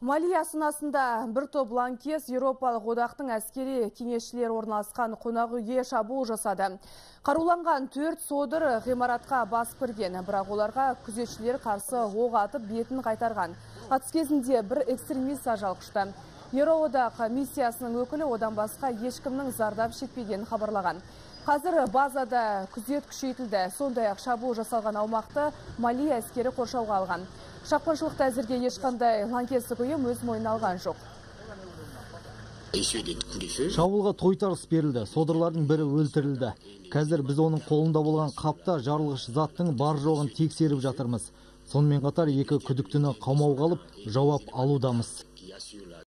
Мали астанасында бір топ лаңкес Еуропалық одақтың әскери кеңесшілер орналасқан қонақ үйге шабуыл жасады. Қаруланған 4 содыр ғимаратқа басып кірген, бірақ оларға күзетшілер қарсы оқ атып бетін қайтарған. Атыс кезінде бір экстремист ажал құшты. Еуроодақ миссиясының өкілі одан басқа ешкімнің зардап шекпеген хабарлаған. Қазір базада күзет күшейтілді. Сондай-ақ шабуыл жасалған аумақты Мали әскері қоршауға алған. Шапқыншылықта әзірге ешқандай лаңкестік ұйым өз мойнына алған жоқ. Шабуылға тойтарыс берілді. Содырлардың бірі өлтірілді. Қазір біз оның қолында болған қапта жарылғыш заттың бар жоғын тексеріп жатырмыз. Сонымен қатар екі күдіктіні қамауға алып жауап алудамыз.